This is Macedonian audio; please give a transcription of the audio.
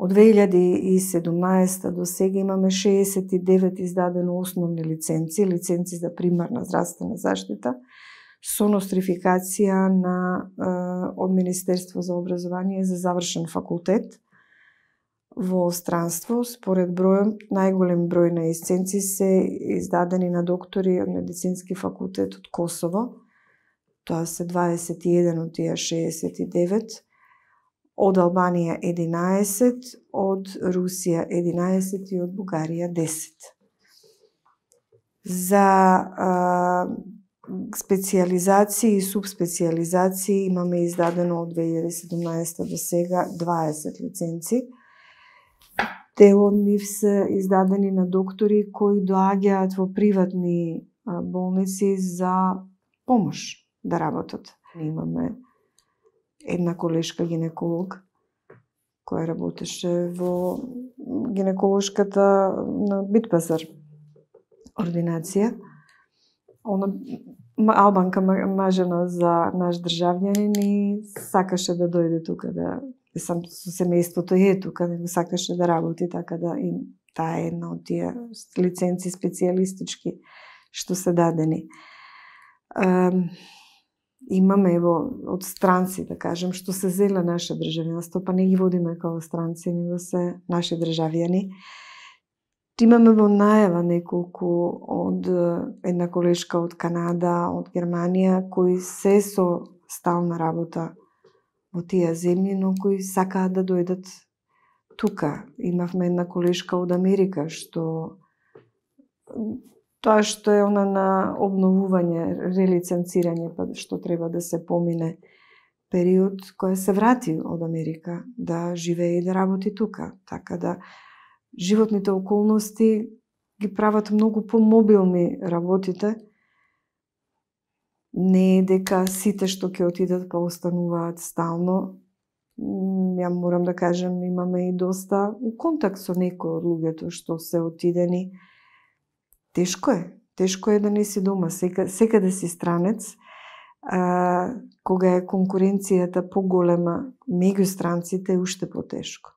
Од 2017 до сега имаме 69 издадено основни лиценци за примарна здравствена заштита, со нострификација од Министерство за образование за завршен факултет во странство. Според бројот, најголем број на лиценци се издадени на доктори од Медицински факултет од Косово. Тоа се 21 од тие 69, од Албанија 11, од Русија 11 и од Бугарија 10. За специјализации и субспецијализации имаме издадено од 2017 до сега 20 лиценци. Дел од нив се издадени на доктори кои доаѓаат во приватни болници за помош да работат. Имаме една колешка гинеколог која работеше во гинеколошката на Битпазар ординација. Она албанка мажена за наш државјанин и сакаше да дојде тука сам со семејството е тука, него сакаше да работи, така да и таа е една од тие лиценци специјалистички што се дадени. Имаме од странци, да кажем, што се зеле наше државјанство, па не ги водиме како странци, него се наши државјани. Имаме во најава неколку од една колешка од Канада, од Германија, кои се со стална работа во тие земји, но кои сакаат да дојдат тука. Имавме една колешка од Америка, што тоа што е она на обновување, релиценцирање, па што треба да се помине период, која се врати од Америка, да живее и да работи тука. Така да животните околности ги прават многу помобилни работите. Не е дека сите што ќе отидат па остануваат стално. Ја морам да кажем, имаме и доста у контакт со некои од луѓето што се отидени. Тешко е да не си дома, секаде си странец. Кога е конкуренцијата поголема меѓу странците, уште потешко.